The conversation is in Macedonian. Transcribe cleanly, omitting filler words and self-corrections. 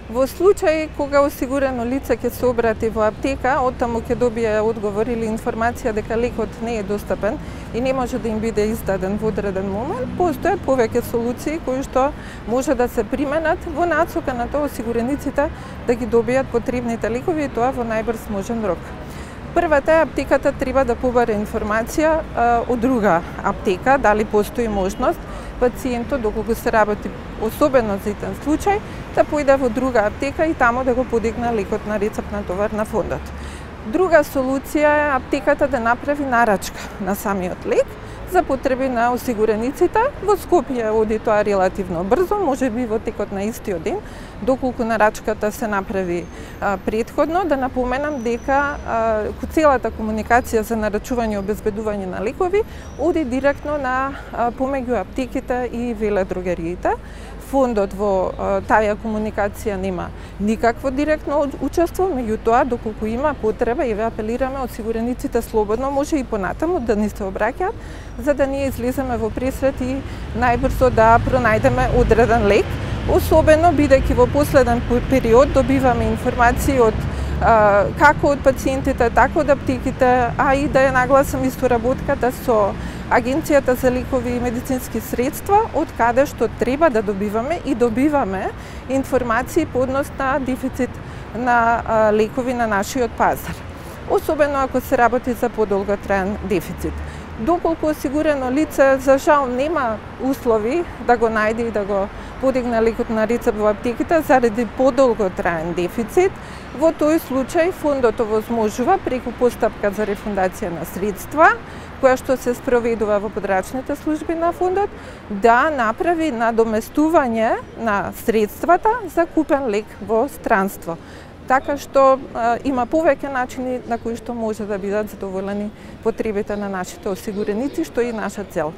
Во случај кога осигурено лице ќе се обрати во аптека, оттаму ќе добие одговор или информација дека лекот не е достапен и не може да им биде издаден во одреден момент, постојат повеќе солуции кои што може да се применат во насока на тоа осигурениците да ги добијат потребните лекови и тоа во најбрз можен рок. Првата е аптеката треба да побара информација од друга аптека, дали постои можност пациентот, доколку се работи особено за итен случај, да појде во друга аптека и таму да го подигне лекот на рецептна товар на фондот. Друга солуција е аптеката да направи нарачка на самиот лек за потреби на осигурениците. Во Скопје оди тоа релативно брзо, можеби во текот на истиот ден, доколку нарачката се направи претходно. Да напоменам дека целата комуникација за нарачување и обезбедување на лекови оди директно на помеѓу аптеките и веледрогериите. Фондот во таа комуникација нема никакво директно учество, меѓутоа доколку има потреба и ве апелираме осигурениците слободно може и понатаму да ни се обраќаат, за да ние излеземе во пресрет и најбрзо да пронајдеме одреден лек, особено бидејќи во последен период добиваме информации од како од пациентите, така од аптеките, а и да ја нагласам и соработката со Агенцијата за лекови и медицински средства, од каде што треба да добиваме и добиваме информации по однос на дефицит на лекови на нашиот пазар. Особено ако се работи за подолготраен дефицит. Доколку осигурено лице за жал нема услови да го најде и да го подигне лекот на рецепт во аптеките заради подолготраен дефицит, во тој случај фондот овозможува преку постапка за рефундација на средства, која што се спроведува во подрачните служби на фондот, да направи надоместување на средствата за купен лек во странство. Така што има повеќе начини на кои што може да бидат задоволени потребите на нашите осигуреници, што е и наша цел.